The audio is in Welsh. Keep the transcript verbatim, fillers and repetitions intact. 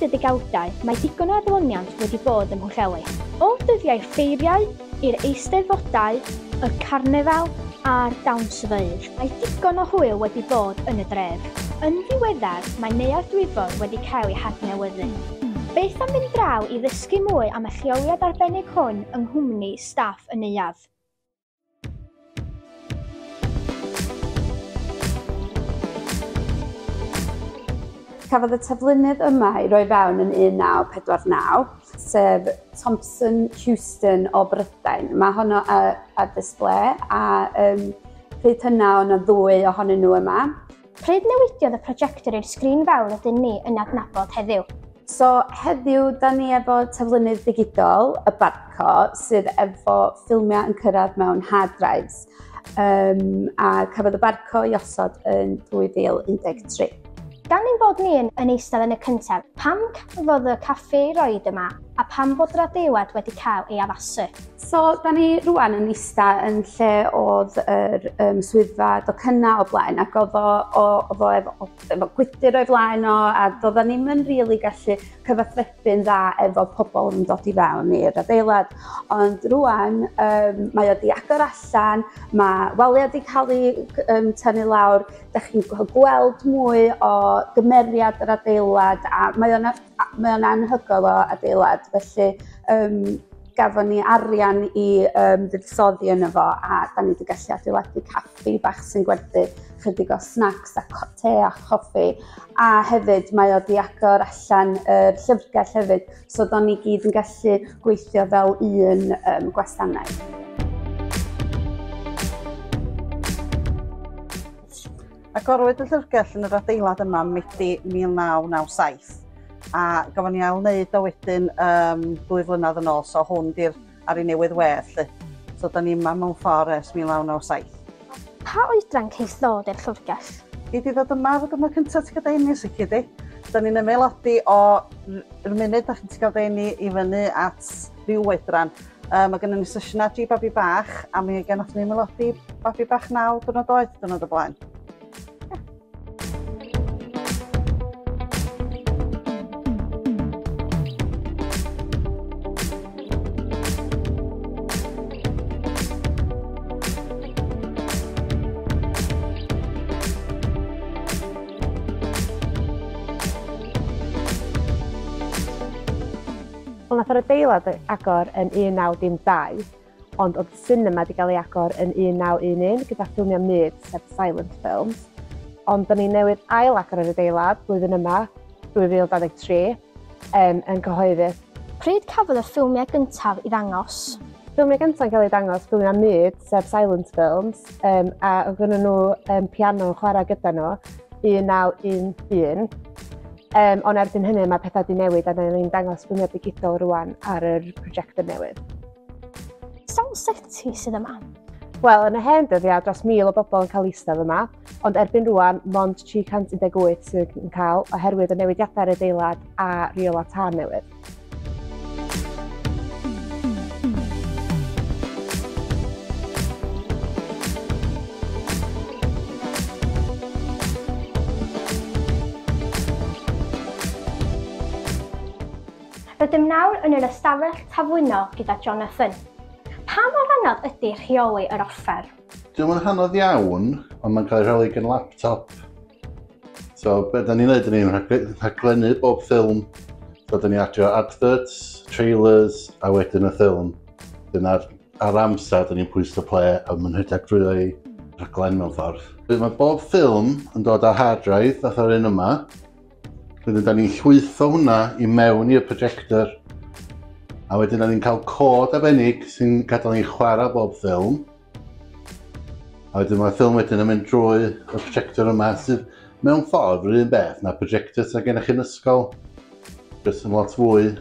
hyd y degawdau, mae digon o adloniant wedi bod ym Mhwllheli. O'r dyddiau ffeiriau, i'r eisteddfodau, y carnefal a'r dawnsfeydd, mae digon o hwyl wedi bod yn y dref. Yn ddiweddar, mae Neuadd Dwyfor wedi cael ei hadnewyddu. Beth am fynd draw i ddysgu mwy am y lleoliad arbennig hwn yng nghwmni staff y neuadd? Cafodd y taflunydd yma ei roi fewn yn un naw pedwar naw, sef Thompson Houston o Brydain. Mae honno ar display a um, pryd hynna o'n ddwy ohonyn nhw yma. Pryd newidiodd y projector i'r sgrin fawr ydyn ni yn adnabod heddiw? So heddiw, da ni efo taflunydd digidol, y Barco, sydd efo ffilmiau yn cyrraedd mewn hard drives. Um, a cafodd y Barco ei osod yn dwy fil un deg tri. Gan ein bod ni yn, yn eistedd yn y cyntaf, pam cafodd y caffi ei roed yma a pam bod yr adeilad wedi cael ei addasu? So, da ni rwan yn eistedd yn lle oedd yr um, swyddfa docynnau o blaen, ac oedd o, oedd o efo, efo gwydr o'i flaen o, a doedden ni'm yn rili gallu cyfathrebu'n dda efo pobl yn dod i fewn i'r adeilad. Ond rwan, um, mae o di agor allan, mae waliau di cael ei um, tynnu lawr, da chi'n gweld mwy o gymeriad yr adeilad, a mae o'n mae o'n anhygoel o adeilad, felly um, gafon ni arian i um, fuddsoddi yno fo, a da ni wedi gallu adeiladu caffi bach sy'n gwerthu chydig o snacks a te a choffi, a hefyd mae o di agor allan yr llyfrgell hefyd, so da ni gyd yn gallu gweithio fel un um, gwasanaeth. Agorwyd y llyfrgell yn yr adeilad yma Medi mil naw naw saith, a gafon ni ail wneud o wedyn um, dwy flynedd yn ôl, so hwn di'r ar ei newydd wedd. So da ni yma mewn ffordd ers mil naw naw saith. Pa oedran ceith ddod i'r llyfrgell? Gei di ddod yma ar y diwrnod cyntaf ti'n cael dy eni, di. Da ni'n ymaelodi o yr munud da chi'n cael dy eni i fyny at ryw oedran. Um, mae gennym ni sesiynau G babi bach, a mi gennych ni ymaelodi babi bach naw diwrnod oed diwrnod o blaen. Wel, nath yr adeilad agor yn un naw dim dau, ond oedd cinema wedi cael ei agor yn un naw un un gyda ffilmiau mud, sef silent films. Ond da ni newydd ail agor yr adeilad blwyddyn yma, dwy fil dau ddeg tri, um, yn cyhoeddus. Pryd cafodd y ffilmiau gyntaf i ddangos? Ffilmiau gyntaf yn cael ei dangos, ffilmiau mud, sef silent films, um, a oedd gynnon nhw um, piano yn chwarae gyda nhw, un naw un un. Um, ond erbyn hynny mae pethau wedi newid a ni'n dangos ffilmiau digidol rwan ar yr projector newydd. Sawl seti sydd yma? Wel, yn y hen dyddiau, dros mil o bobl yn cael eistedd yma, ond erbyn rwan, mond tri cant un deg wyth sydd yn cael oherwydd y newidiadau ar adeilad a rheolau tân newydd. Rydym nawr yn yr ystafell taflwyno gyda Jonathan. Pa mor anodd ydy rheoli yr offer? Dio'm yn anodd iawn, ond mae'n cael ei rheoli gan laptop. So, be da ni'n neud, da ni'n rhaglennu bob ffilm. So, da ni'n adio adverts, trailers, a wedyn y ffilm. Dyna'r ar amser, da ni'n pwyso play a mae'n rhedeg drwy ei rhaglen mewn ffordd. Mae bob ffilm yn dod ar hard drive, fatha'r un yma. Wedyn da ni'n llwytho hwnna i mewn i'r projector. A wedyn da ni'n cael cod arbennig sy'n gadael ni chwarae bob ffilm. A wedyn mae'r ffilm wedyn yn mynd drwy y projector yma sydd mewn ffordd yr un beth na projector sydd gennych chi'n ysgol. Jyst yn lot fwy.